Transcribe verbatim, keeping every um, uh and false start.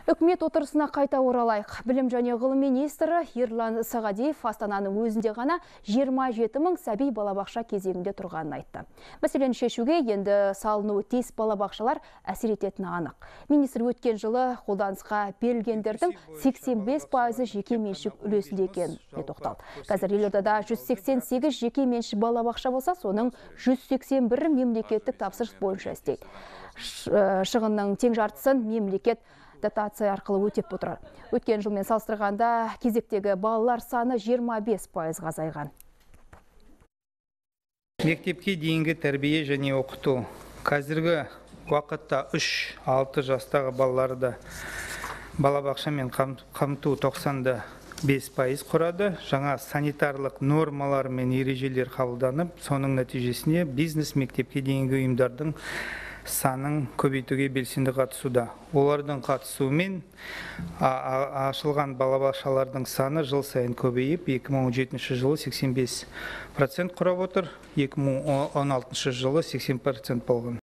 Үкімет отырысына қайта оралайық. Білім және ғылым министрі Ерлан Сағадиев Астананың өзінде ғана жиырма жеті мың сәби балабақша кезегінде тұрғанын айтты. Мәселені шешуге енді салынуы тиіс балабақшалар әсер ететіні анық. Министр өткен жылы қолданысқа берілгендердің сексен бес пайызы жеке меншік үлесінде екеніне тоқталды. Қазір елордада жүз сексен сегіз жеке меншік балабақша болса, соның жүз сексен бірі мемлекеттік тапсырыс бойынша істейді. Шығынның тең жартысын мемлекет дотация арқылы өтеп отырар. Өткен жылмен салыстырғанда кезектегі балалар саны жиырма бес пайызға азайған. Мектепке дейінгі тәрбие және оқыту. Қазіргі уақытта үш алты жастағы балаларды балабақшамен қамту тоқсан бес пайыз құрады. Жаңа санитарлық нормалар мен ережелер қабылданып, соның нәтижесінде бизнес мектепке дейінгі ұйымдардың санын көбейтуге белсенді қатысуда. Олардың қатысуымен ашылған балабақшалардың саны жыл сайын көбейіп, екі мың он жетінші жылы сексен бес процент құрап отыр, екі мың он алтыншы жылы сексен процент болған.